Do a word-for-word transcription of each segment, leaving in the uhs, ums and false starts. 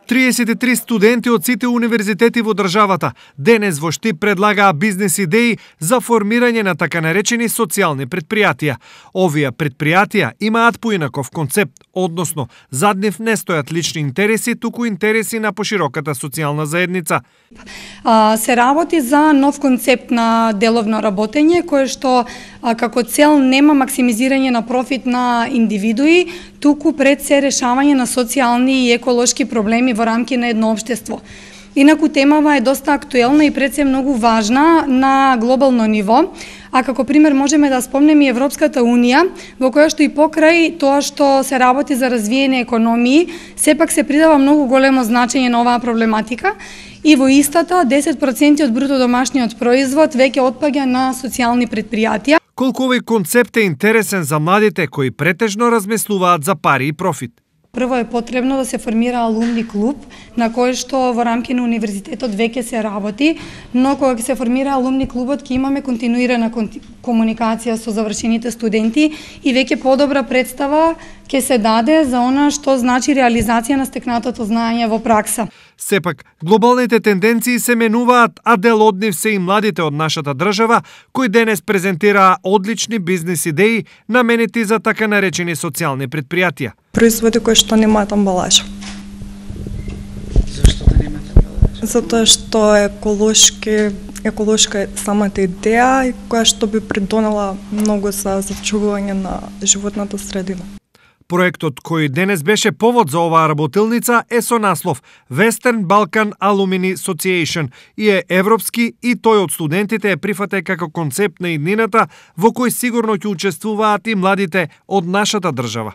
триесет и три студенти од сите универзитети во државата денес во Штип предлагаа бизнес идеи за формирање на така наречени социјални предпријатија. Овие предпријатија имаат поинаков концепт, односно зад нив не стојат лични интереси, туку интереси на пошироката социјална заедница. А, се работи за нов концепт на деловно работење, кое што а, како цел нема максимизирање на профит на индивидуи, туку пред се решавање на социјални и еколошки проблеми во рамки на едно општество. Инаку темава е доста актуелна и пред се многу важна на глобално ниво, а како пример можеме да спомнеме и Европската унија, во која што и покрај тоа што се работи за развиени економии, сепак се придава многу големо значење на оваа проблематика и во истата десет проценти од бруто домашниот производ веќе отпаѓа на социјални предпријатија. Колку овој концепт е интересен за младите кои претежно размислуваат за пари и профит? Прво е потребно да се формира алумни клуб, на кој што во рамки на универзитетот веќе се работи, но кога ќе се формира алумни клубот ќе имаме континуирана комуникација со завршените студенти и веќе подобра представа ќе се даде за она што значи реализација на стекнатото знаење во пракса. Сепак, глобалните тенденции се менуваат, а дел од нив се и младите од нашата држава, кои денес презентираа одлични бизнес идеи наменети за така наречени социјални предпријатија. Производи кои што немаат амбалажа. Зашто да немаат амбалажа? Затоа што еколошки, еколошка е самата идеја која што би придонела многу за зачувување на животната средина. Проектот кој денес беше повод за оваа работилница е со наслов Western Balkan Alumni Association и е европски и тој од студентите е прифатен како концепт на иднината во кој сигурно ќе учествуваат и младите од нашата држава.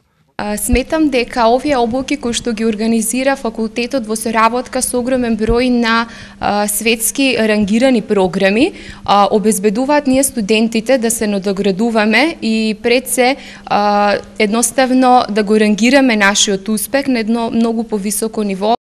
Сметам дека овие обуки кои што ги организира факултетот во соработка со огромен број на а, светски рангирани програми а, обезбедуваат ние студентите да се надоградуваме и пред се а, едноставно да го рангираме нашиот успех на едно многу повисоко ниво.